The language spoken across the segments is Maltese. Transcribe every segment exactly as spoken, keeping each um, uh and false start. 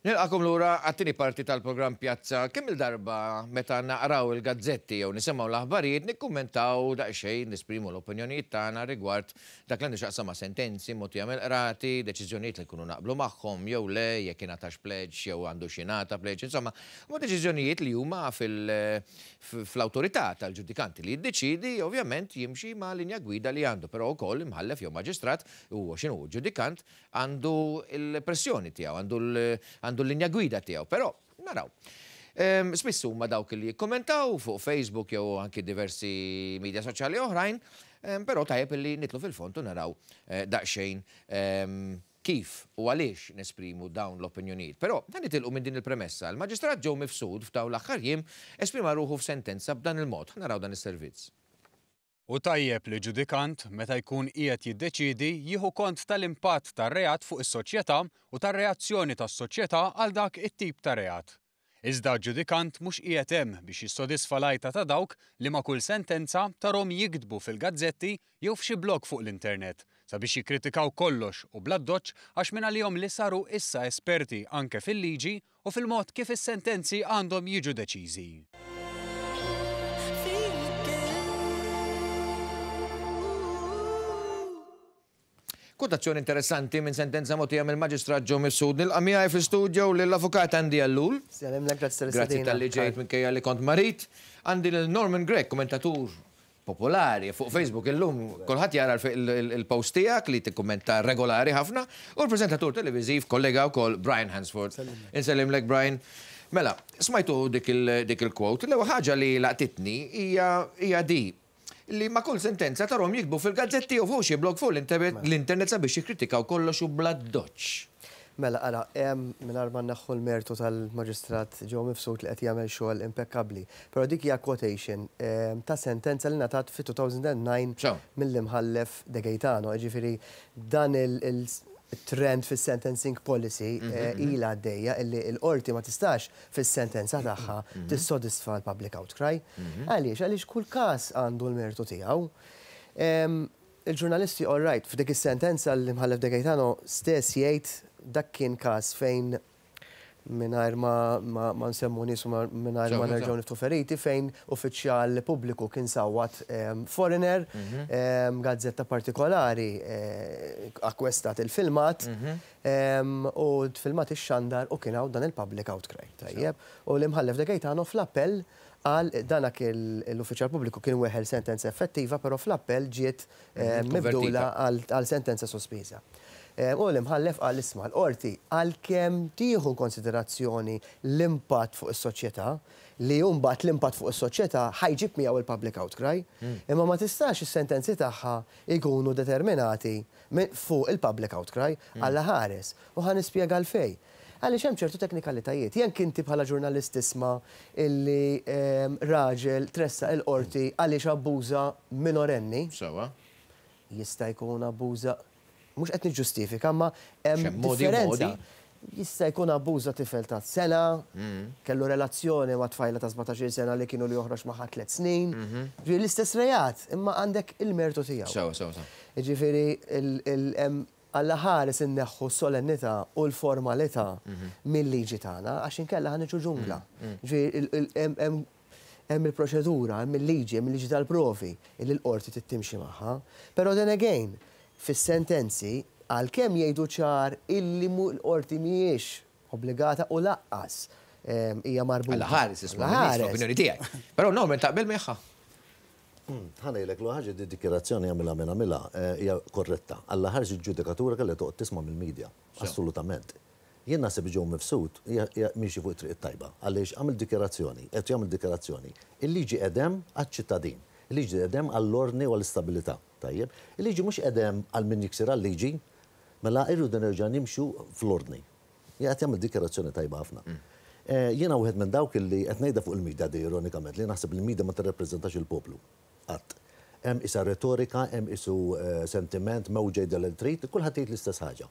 Nilqagħkom lura għat-tieni parti tal-programm Pjazza. Kemm il-darba meta naqraw il-gazzetti jew nisimgħu l-aħbarijiet nikkummentaw daqsxejn, nesprimu l-opinjonijiet tagħna rigward dak li għandu x'jaqsam ma' sentenzi mogħtija mill-qrati, deċiżjonijiet li nkunu naqblu magħhom jew le, jekk ingħatax pleġġ jew għandu x'jingħata pleġġ, insomma, huma deċiżjonijiet li huma fl-awtorità tal-ġudikanti li jiddeċidi, ovvjament jimxi ma' linja gwida li għandu, però wkoll imħallef jew maġistrat huwa x'inhu ġudikant għandu l-pressjoni tiegħu, għandu għandu l-linja gwida tiegħu, però naraw. Spiss huma dawk li jikkommentaw fuq Facebook jew anki diversi media soċjali oħrajn, però tajjeb li nidħlu fil-fond u naraw eh, daqsxejn kif u għaliex nesprimu dawn l-opinjonijiet. Però dan nitilqu minn din il-premessa. Il-Maġistrat Joe Mifsud f'dawn l-aħħar jiem esprima ruħu f'sentenza b'dan il-mod. Naraw dan is-servizz. U tajjeb li ġudikant meta jkun qiegħed jiddeċidi jieħu kont tal-impatt tar-reat fuq is-soċjetà u tar-reazzjoni tas-soċjetà għal dak it-tip ta' reat. Iżda ġudikant mhux qiegħed hemm biex jissodisfa l-għajta ta' dawk li ma' kull sentenza tarahom jiktbu fil-gazzetti jew f'xi blog fuq l-internet sabiex jikkritikaw kollox u bl-addoċċ għax minn għalihom li saru issa esperti anke fil-liġi u fil-mod kif is-sentenzi għandhom jiġu deċiżi. Kwotazzjoni interessanti minn sentenza mogħtija mill-Maġistrat Joe Mifsud. Nilqa' miegħi fl-istudio lill-Avukat Andy Ellul. Sellimlek, grazzi Grazzi tal-istedina. talli ġejt minkejja li kont marit. Għandi lil Norman Grech, kommentatur popolari fuq Facebook illum, kulħadd jara il-post tiegħek li tikkummenta regolari ħafna, u l-preżentatur televiżiv kollega wkoll Brian Hansford. Insellimlek, Brian. Mela, smajtu dik il-quote, l-ewwel ħaġa li laqtitni hija di li ma' kull sentenza tarahom jiktbu fil-gazzetti u fuq xi blog fuq l-internet sabiex jikkritikaw kollox u bl-addoċċ. Mela, ara, mingħajr ma naħħu l-mertu tal-Maġistrat Joe Mifsud li qed jagħmel xogħol impeccabli. Però dik hija quotation ta' sentenza li ngħatat fi two thousand and nine mill-imħallef De Gaetano. Ġifieri dan il-trend fis-sentencing policy mhm, eh, mhm. ila għaddejja illi l-qorti ma tistax fis-sentenza tagħha mhm. tissodisfa l-public outcry. Għaliex? Għaliex kull każ għandu l-mertu tiegħu. Il-ġurnalisti, all right, f'dik is-sentenza l-imħallef De Gaetano stess jgħid dak kien każ fejn, mingħajr ma, ma, ma nsemmu nies u mingħajr ma nerġgħu niftħu feriti, fejn uffiċjal pubbliku kien sawat um, foreigner, mm -hmm. um, gazzetta partikolari eh, akkwistat il-filmat mm -hmm. um, u filmat ix-xandar u kien hawn dan il-public outcry. Tajjeb. U l-imħallef De Gaetano fl-appell għal danak l-uffiċjal pubbliku kien weħel sentenza effettiva, però fl-appell ġiet mhm, mibdula għal sentenza sospiża. Eh, u l-imħallef qal, isma', l-qorti għalkemm tieħu konsiderazzjoni l-impatt fuq is-soċjetà, li mbagħad l-impatt fuq is-soċjetà ħa jġib miegħu il-public outcry, hmm. imma ma tistax is-sentenzi tagħha jkunu determinati fuq il-public outcry hmm. Alla ħares. U ħa nispjega għalfejn. Għaliex hemm ċertu teknikalitajiet. Jekk inti bħala ġurnalist tisma' illi ehm, raġel tressaq il-qorti għaliex abbuża minorenni. Sewa. Jista' jkun abbuża, mhux qed niġġustifika, ma hemm differenza. Jista' jkun abbuża tifel ta' sena, mm. kellu relazzjoni ma' tfajla ta' sbatax-il sena li kienu li joħroġ magħha tliet snin. Mhm. Ġifieri l-istess reat, imma għandek il-mertu tiegħu. Sewa, sewa, sewa. Ġifieri Alla ħares inneħħu s-solennità u l-formalità mhm. mill-liġi tagħna għax inkella ħa niġu ġungla. Mm, mm. Ġifieri hemm il-proċedura, hemm il-liġi, hemm il-liġi tal-provi illi l-qorti tittimxi magħha. Però then again, fis-sentenzi, għalkemm jgħidu ċar illi l-qorti mhijiex obbligata u lanqas hija marbuta. Alla ħares isma' l-opinjoni tiegħek. Però Norman, taqbel magħha. Ħa ngħidlek l ħaġa, di dikjarazzjoni għamilha minn għamilha eh, hija korretta. Alla ħares il-ġudikatura kellha toqgħod tisma' mill-medja. Assolutament. Jien naħseb Joe Mifsud miexi fuq it-triq tajba għaliex għamel dikjarazzjoni, qed jagħmel dikjarazzjoni. Il-liġi qegħda hemm għaċ-ċittadin. Il-liġi qegħda hemm għall-ordni u għall-istabilità. Tajjeb. Il-liġi mhux qegħda hemm għal min jiksir għal-liġi, mela irridu nerġa' nimxu fl-ordni. Qed jagħmel dikjarazzjoni tajba ħafna. Eh, jiena wieħed minn dawk illi qed ngħidha fuq il-medja di ironikament li naħseb li l-medja ma tirrepreżentax il-poplu. Qatt. Hemm isa retorika, hemm isu eh, sentiment, mewġa jgħidha li trid, kulħadd jgħid l-istess ħaġa.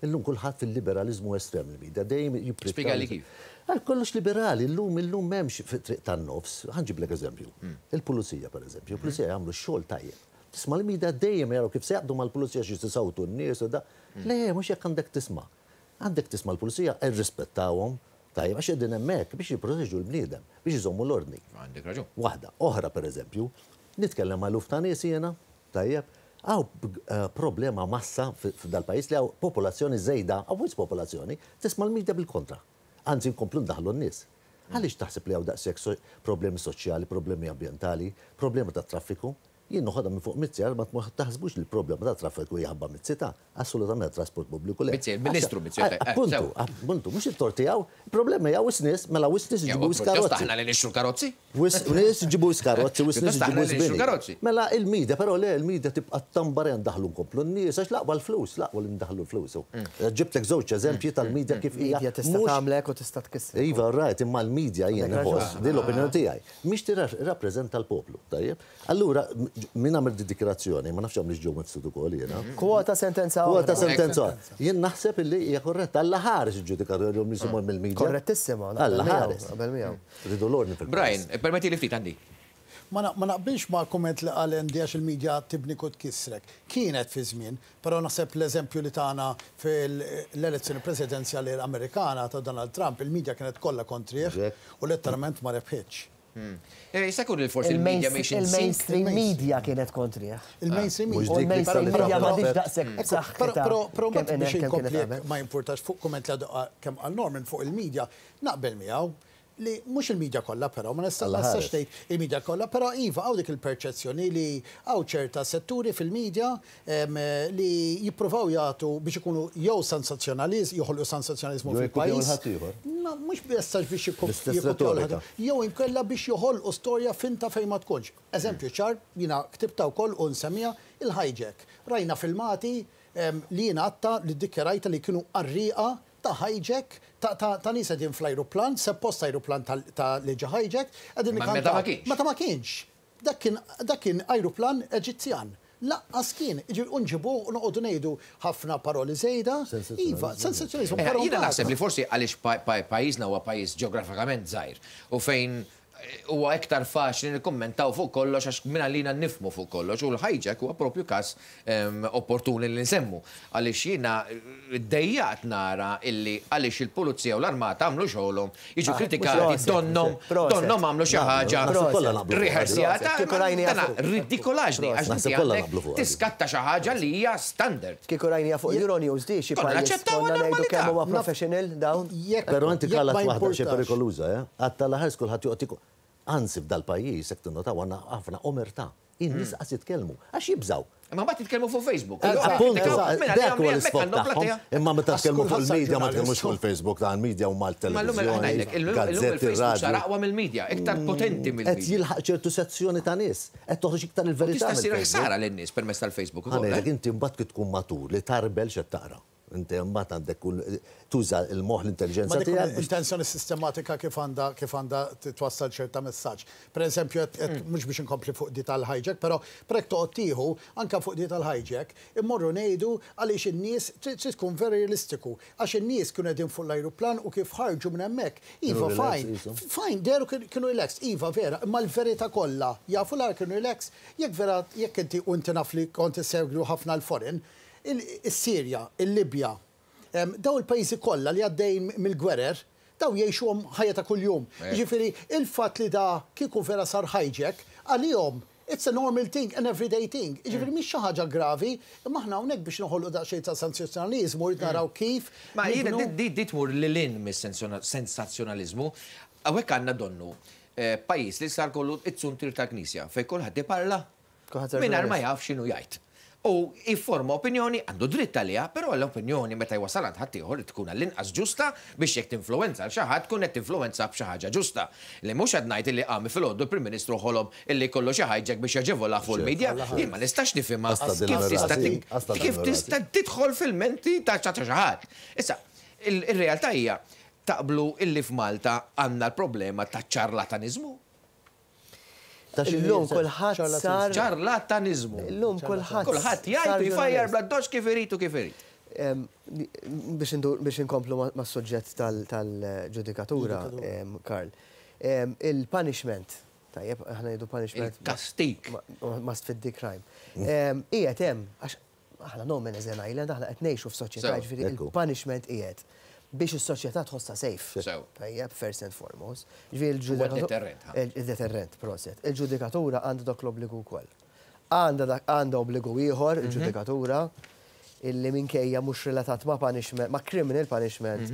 Illum kulħadd fil-liberalizmu estrem, il-medja dejjem jippriferi. Spjegali kif. Għal kollox liberali, illum illum m'hemmx fit-triq tan-nofs. Ħa nġiblek eżempju. Il-pulizija, per eżempju, il-pulizija jagħmlu xogħol tajjeb. Tisma' l-media dejjem jaraw kif se jaqdu mal-pulizija xi tisawtu n-nies u da. Le, mhux jekk għandek tisma'. Għandek tisma' l-pulizija, irrispettawhom, tajjeb, għax qegħdin hemmhekk biex jipproteġu l-bniedem, biex iżommu l-ordni. Għandek raġun. Waħda, oħra pereżempju, nitkellem ma' eluf ta' nies jiena, tajjeb, hawn problema massa f'dal-pajjiż li hawn popolazzjoni żejda, hawn wisq popolazzjoni, tisma' l-media bil-kontra. Anzi nkomplu ndaħlu n-nies. Għaliex taħseb li hawn daqshekk problemi soċjali, problemi ambjentali, problemi ta' traffiku? Jien noħodha minn fuq Mizzi, ma taħsbux li l-problema ta' traffiku jħabba Mizzi ta' assolutament trasport pubbliku le. Mizzi, il-Ministru Mizzi. Appuntu, appuntu, mhux it-tort tiegħu, il-problema hija wisq nies, mela wisq nies iġibu wisq karozzi. Aħna li nixtru karozzi? Wisq nies iġibu wisq karozzi, wisq nies iġibu wisq bini. Mela il-media, però le, il-media tibqa' tambar ndaħlu nkomplu n-nies għax laqwa l-flus, laqwa li ndaħlu l-flus. Ġibtlek żewġ eżempji tal-media kif hija. Media tista' tagħmlek u tista' tkisser. Iva, right, imma l-media jien inħoss, din l-opinjoni tiegħi. Mhix tirrappreżenta l-poplu, tajjeb? Allura min għamel di dikjarazzjoni, ma nafx għamlix ġew mifsud ukoll jiena. Kwota sentenza oħra. Kwota sentenza oħra. Jien naħseb illi hija korretta, Alla ħares il-ġudikatur li jisimgħu mill-media. Korrettissima. Alla ħares. Qabel miegħu. Ridu l-ordni fil-pajjiż. Brian, permetti li ftit għandi. Ma naqbilx ma' kumment li qal Andy għax il-medja tibni u tkissrek. Kienet fi żmien, però naħseb l-eżempju li tagħna fil-elezzjoni presidenzjali Amerikana ta' Donald Trump, il-medja kienet kollha kontrih u letteralment ma rebħitx. Jista' jkun li forsi il-media mhix Il-mainstream media kienet kontrih. Il-mainstream media. U l-mainstream media ma diġ daqshekk b'saħħitha. Però biex inkompli ma jimpurtax fuq kumment li kemm għal Norman fuq il-media, naqbel miegħu li mhux il-media kollha però, ma nistax tgħid il-media kollha, però iva hawn dik il-perċezzjoni li hawn ċerta setturi fil-media li jippruvaw jagħtu biex ikunu jew sensazzjonaliż, joħolqu sensazzjonaliżmu fil-pajjiż. Mhux biss biex jikkopjaw jew inkella biex joħolqu storja finta fejn ma tkunx. Eżempju ċar, jiena ktibta wkoll u nsemmija il-hijack. Rajna filmati li jiena għatta li ddikjarajta li kienu qarrieqa ta' hijack, ta' nies qegħdin fl-ajruplan, suppost ajruplan ta' li ġa hijack, qegħdin Meta ma kienx. Meta ma kienx. Dak kien ajruplan Eġizzjan. Laqqas kien, unġibu u noqogħdu ngħidu ħafna paroli żejda. Iva, sensazzjonizmu. Jiena naħseb li forsi għaliex pajjiżna huwa pajjiż ġeografikament żgħir u fejn huwa iktar faċli nikkummentaw fuq kollox għax minn għalina nifmu fuq kollox u l-hijack huwa propju każ opportuni li nsemmu. Għaliex jiena ddejjaqt nara illi għaliex il-pulizija u l-armata għamlu xogħolhom, jiġu kritikati donnom, donnom għamlu xi ħaġa riħersjata. Ridikolaġni għax tiskatta xi ħaġa li hija standard. Kieku rajnija fuq Euronews di xi pajjiż konna ngħidu kemm huwa professional dawn. Però inti kallat waħda xi perikoluża, eh? Għatta l-ħares kulħadd joqgħod. Anzi f'dal-pajjiż jekk tinnotaw għandna ħafna omertà. In-nies qas jitkellmu għax jibżgħu. Imma mbagħad jitkellmu fuq Facebook. Appuntu, dak huwa l-isfond tagħhom. Imma meta tkellmu fuq il-media ma tkellmux fuq il-Facebook ta' il-media u mal-televiżjoni. Illum il-Facebook sar aqwa mill-media, iktar potenti mill-media. Qed jilħaq ċertu sezzjoni ta' nies, qed toħroġ iktar il-verità. Tista' ssir ħsara lin-nies permezz tal-Facebook ukoll. Ħanejlek inti mbagħad kif tkun matur li tarbel x'qed taqra. Inti mbagħad għandek tuża l-moħħ l-intelligenza tiegħek. Intenzjoni sistematika kif għandha kif għandha twassal ċerta messaġġ. Pereżempju, mhux biex inkompli fuq di tal-hijack, però prek toqgħod tieħu anke fuq di tal-hijack, immorru ngħidu għaliex in-nies trid tkun very realistiku, għax in-nies kienu qegħdin fuq l-ajruplan u kif ħarġu minn hemmhekk. Iva, fine, fine, deru kienu relaxed, iva vera, imma l-verità kollha jafu l kienu relaxed, jekk vera jekk inti u inti naf li kont issegwu ħafna l-foreign, il-Sirja, il-Libja, daw il-pajjiżi kollha li għaddejn mill-gwerer, daw jgħixuhom ħajja ta' kuljum. Jiġifieri il-fatt li da kieku vera sar hijack, għalihom it's a normal thing, an everyday thing. Jiġifieri mhix xi ħaġa gravi, imma aħna hawnhekk biex noħolqu daqsxejn ta' sensazzjonaliżmu rrid naraw kif. Ma jiena di tmur lil hinn mis-sensazzjonaliżmu, hawnhekk għandna donnu pajjiż li sar kollu it-suntir tal-Knisja fejn kulħadd iparla mingħajr ma jaf x'inhu jgħid. U jifforma opinjoni, għandu dritt għaliha, però l-opinjoni meta jwasal għand ħaddieħor tkun għall-inqas ġusta biex jekk tinfluwenza għal xi ħadd tkun qed tinfluwenza b'xi ħaġa ġusta. Li mhux qed ngħid illi qam filgħodu l-Prim Ministru ħolom illi kollu xi hijack biex jaġevola fuq il-media, jien ma nistax nifhimha kif tista' tidħol fil-menti ta' xi ħadd. Issa, ir-realtà hija taqblu illi f'Malta għandna l-problema ta' ċarlataniżmu. Illum kulħadd sar ċarlataniżmu. Illum kulħadd kulħadd jgħid jfajjar bla doċ kif irid u kif irid. Biex inkomplu mas-suġġett tal-ġudikatura, Karl. Il-punishment, tajjeb, aħna ngħidu punishment. Il-kastik. Must fit the crime. Qiegħed hemm għax Aħna no man is an island, aħna qed ngħixu f'soċjetà, ġifieri il-punishment qiegħed biex is-soċjetà tħossha safe. Tajjeb, first and foremost. Ġifieri il-deterrent. Il-deterrent, proset. Il-ġudikatura għandha dak l-obbligu wkoll. Għandha għandha obbligu ieħor il-ġudikatura illi minkejja mhux relatat ma' punishment, ma' criminal punishment,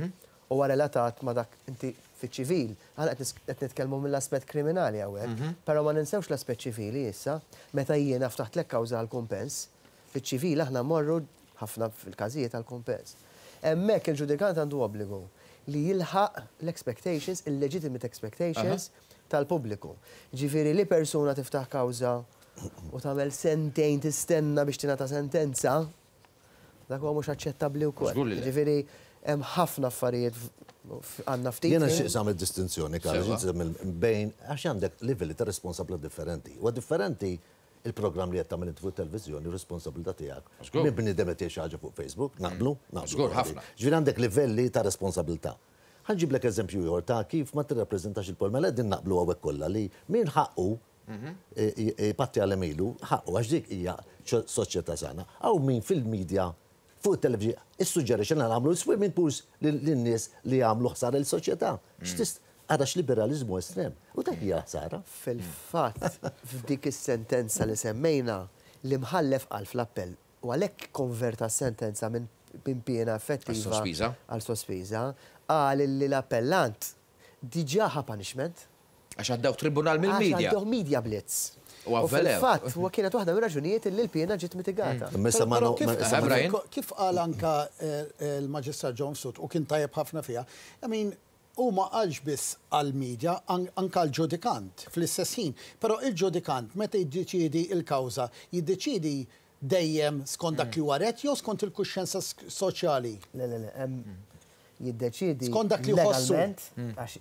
huwa relatat ma' dak inti fiċ-ċivil. Aħna qed nitkellmu mill-aspett kriminali hawnhekk, però ma ninsewx l-aspett ċivili issa, meta jiena ftaħtlek kawża għal kumpens, fiċ-ċivil aħna mmorru ħafna fil-każijiet għal kumpens. Hemmhekk il-ġudikant għandu obbligu li jilħaq l-expectations, il-legitimate expectations tal-pubbliku. Ġifieri li persuna tiftaħ kawża u tagħmel sentejn tistenna biex tingħata sentenza, dak huwa mhux aċċettabbli wkoll. Ġifieri hemm ħafna affarijiet għandna ftit. Jiena xi nagħmel distinzjoni, Karl, bejn għax għandek livelli ta' responsabilità differenti. Huwa differenti il-programm li qed tagħmel inti fuq televiżjoni, responsabilità tiegħek. Minn bniedem qed xi ħaġa fuq Facebook, naqblu, naqblu. Żgur ħafna. Ġifieri għandek livelli ta' responsabilità. Ħa nġiblek eżempju ieħor ta' kif ma tirrappreżentax il-pol, mela din naqblu hawnhekk kollha li min ħaqqu patti għal emilu, ħaqqu għax dik hija soċjetà sana. Hawn min fil-medja fuq il-televizjoni issuġġerixxa li nagħmlu swimming pools lin-nies li jagħmlu ħsara l-soċjetà. X'tist għara x-liberalizmu estrem. U dak hija ħsara. Fil-fatt, f'dik is-sentenza li semmejna, l-imħallef qal fl-appell u għalhekk konverta s-sentenza minn piena effettiva għal sospiża, qal li l-appellant diġà ħa punishment. Għax għaddew tribunal mill-media. Għax għaddew media blitz. U U fil-fatt, huwa kienet waħda mir-raġunijiet li l-piena ġiet mitigata. Kif qal anka il-Maġistrat Joe Mifsud u kien tajjeb ħafna fiha, I mean, u ma qalx biss għal-medja, anka l-ġudikant fl-istess ħin. Però il-ġudikant meta jiddeċidi il-kawża, jiddeċidi dejjem skont dak li huwa rett jew skont il-kuxjenza soċjali? Le, le, le, jiddeċidi skont dak li jħossu. Legalment, għax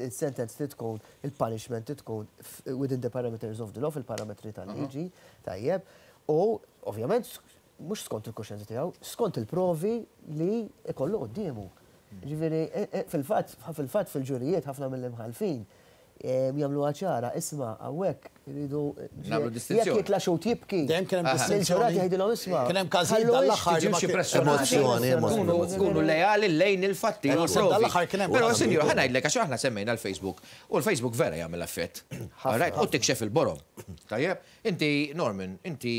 il-sentence li tkun, il-punishment li tkun within the parameters of the law, fil-parametri tal-liġi, tajjeb, u ovvjament mhux skont il-kuxjenza tiegħu, skont il-provi li ikollu quddiemu. Ġifieri, fil-fatt, fil-fatt fil-ġurijiet ħafna mill-imħalfin jagħmlu ċara, isma' hawnhekk iridu Nagħmlu distinzjoni. Jekk jitla' xhud jibki. Dejjem kien hemm distinzjoni. Il-ġurati jgħidilhom isma'. Kien hemm każijiet dal-aħħar li ma Ġimxi kien- pressjonati. Emozzjoni, emozzjoni. Kunu leali lejn il-fatti. u Naħseb l-provi. dal-aħħar kien hemm Però, ħafna. sinjur, ħa ngħidlek, għax aħna semmejna l-Facebook. U l-Facebook vera jagħmel effett. Alright, u tikxef il-borom. Tajjeb, inti, Norman, inti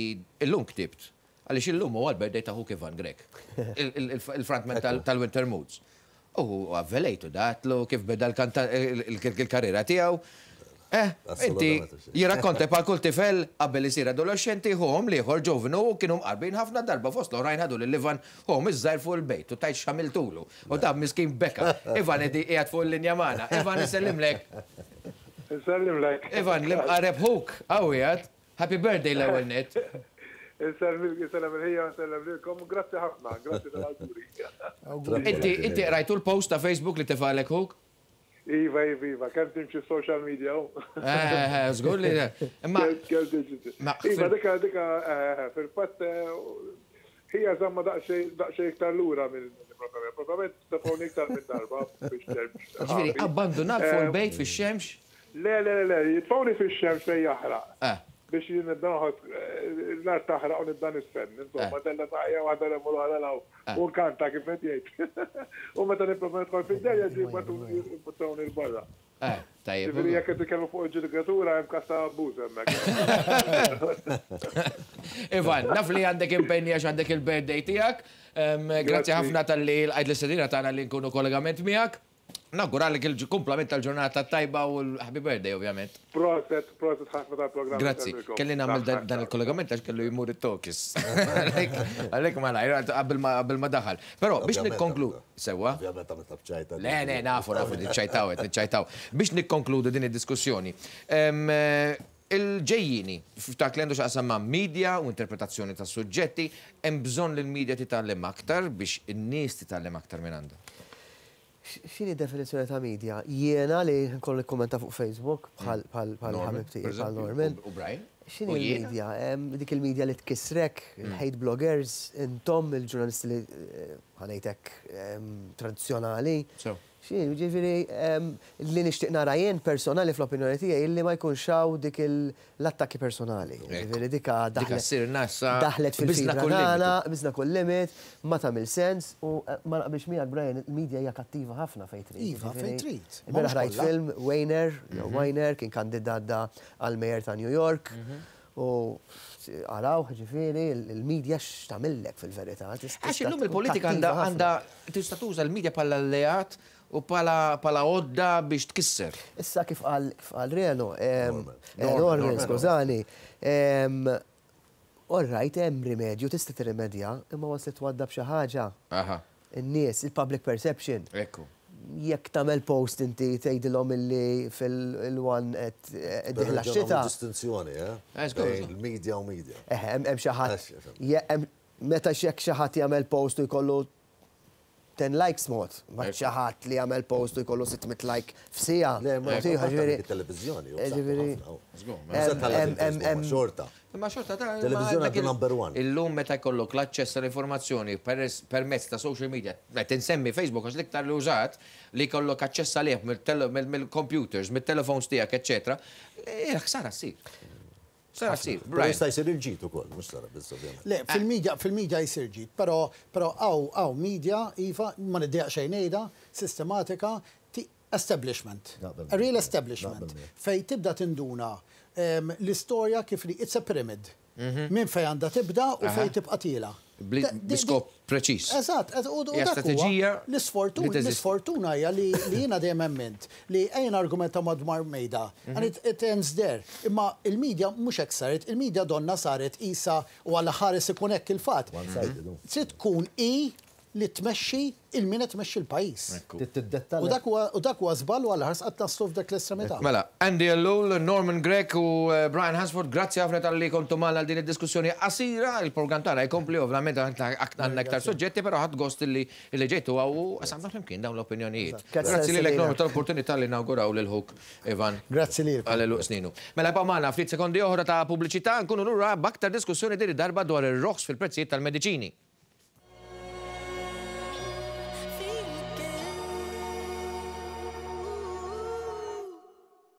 illum ktibt. Għaliex illum huwa l-birthday ta' ħuk Ivan Grech, il-frontman tal-Winter Moods. U avvelejtu datlu kif beda il-karriera tiegħu. Eh, inti Assolutament. jirrakkonta bħal kull tifel qabel isir adolescenti ħuhom l-ieħor ġovnu u kienu mqarbin ħafna darba fost l-oħrajn ħadu lil Ivan ħuhom iż-żgħir fuq il-bejt u tajt x'għamiltulu. U ta' miskin beka. Ivan edi qiegħed fuq il-linja magħna. Ivan isellimlek. Nsellimlek. Ivan l-imqareb ħuk qawwijat. Happy birthday l-ewwel net. Nsellem nsellem il-ħija, nsellem lilkom, grazzi ħafna, grazzi tal-awguri. Inti inti rajtu l-post ta' Facebook li tefalek ħuk? Iva, iva, iva, kemm timxi social media u. Eh, eh, żgur li. Imma Kemm timxi. Ma- Iva, dika, dika, eh, fil-fatt, hija żamma daqsxejn daqsxejn iktar lura minn propjament. Propjament tefawni iktar minn darba biex ġifieri abbandonat fuq il-bejt fix-xemx? Le, le, le, le, jitfawni fix-xemx fejn jaħraq. Eh. Biex jien nibda noħod l-art taħraq u nibda nisfen. Insomma, della taqja waħda l waħda law. U nkanta kif qed jgħid. U meta nipprova nidħol fid-derja ġi 'l barra. Eh, tajjeb. Ġifieri jekk qed titkellmu fuq il-ġudikatura hemm każ ta' abbuż hemmhekk. Ivan, naf li għandek impenni għax għandek il-birthday tiegħek. Grazzi ħafna talli għajd l-istedina tagħna li nkunu kollegament miegħek. Nawguralek il-kumplament tal-ġurnata tajba u l-happy birthday, ovvjament. Proset, proset ħafna tal-programm. Grazzi. Kelli nagħmel dan dan il-kollegament għax kellu jmur it-tokis. Għalhekk ma lajr qabel ma qabel ma daħal. Però biex nikkonklu sewwa. Ovvjament għamilt ċajta. Le, le, nafu, nafu, niċċajtaw, qed niċċajtaw. Biex nikkonkludu din id-diskussjoni. em, eh, Il-ġejjini, f'dak li għandu x'jaqsam ma' media u interpretazzjoni ta' suġġetti, hemm bżonn li l-media titgħallem aktar biex in-nies titgħallem aktar minn għandha. X'inhi definizzjoni ta' media? Jiena li nkollu nikkommenta fuq Facebook bħal bħal bħal Norman, ħabib tiegħi per bħal eżempju, Norman. U Brian. X'inhi U jiena. l-media? Em, Dik il-media li tkissrek, il-hate bloggers, intom il-ġurnalisti li eh, ħa ngħidlek, tradizzjonali. Ġifieri, li nixtieq nara jien personali fl-opinjoni tiegħi illi ma jkunx hawn dik l-attakki personali. Ġifieri dika daħlet fil-fibra tagħna, biżna kull limit, ma tagħmel sens u ma naqbilx miegħek, Brian, il-medja hija kattiva ħafna fejn trid. Iva, fejn trid. Ilbieraħ rajt film Weiner, jew Weiner kien kandidat għal mayor ta' New York. U għaraw, ġifieri, il-medja x'tagħmillek fil-verità. Għax illum il-politika għandha tista' tuża l-medja bħala alleat u bħala għodda biex tkisser. Issa kif qal Reno, Norman, skużani, all right, hemm rimedju, tista' tirrimedja, imma waslet twaddab xi ħaġa. In-nies, il-public perception. Ekku. Jekk tagħmel post inti tgħidilhom illi fil-one qed dieħla x-xita. Distinzjoni, eh? Il-media u media. Eh, hemm xi ħadd. Meta jekk xi ħadd jagħmel post u jkollu ten likes mod, ma xi ħadd li jagħmel post u jkollu sitt mitt like f'siegħa. Le, ma televizjoni. Xorta. Ma xorta ta' Televizjoni għadu number one. Illum meta jkollok l-aċċess tal-informazzjoni permezz ta' social media, qed insemmi Facebook għax l-iktar li użat, li jkollok aċċess għalih mill-computers, mill-telefons tiegħek, eċċetera, ħsara ssir. Sara ssir. Però jista' jsir il-ġid ukoll, mhux sara biss ovvjament. Le, fil-media fil-media jsir ġid, però però hawn hawn media iva ma niddejjaq xejn ngħidha, sistematika establishment. A real establishment. Fej tibda tinduna l-istorja kif li it's a pyramid. Minn fej għandha tibda u fej tibqa' tiela. B'iskop preċiż. Eżatt, u dak strateġija l-isfortuna l-isfortuna hija li jiena dejjem emmint li ejja argumenta madwar mejda. And it, it ends there. Imma il-medja mhux hekk saret, il-medja donna saret isa u għal ħares ikun hekk il-fatt. Trid tkun i li tmexxi il-min qed tmexxi l-pajjiż. U dak huwa u dak huwa żball u għal ħars qatt naslu f'dak l-estremità. Mela, Andy Ellul, Norman Grech u eh, Brian Hansford, grazzi ħafna talli kontu magħna għal din id-diskussjoni qasira. Il-programm tagħna jkompli, ovvjament għandna aktar soġġetti, però ħadt gost li li ġejtu u qsamna flimkien dawn l-opinjonijiet. Grazzi lilek, Norman, tal-opportunità li nawguraw lil ħuk Ivan. Grazzi lilkom. Għal sninu. Mela ibqgħu magħna, ftit sekondi oħra ta' pubbliċità, nkunu lura b'aktar diskussjoni, din id-darba dwar ir-roħs fil-prezzijiet tal-mediċini.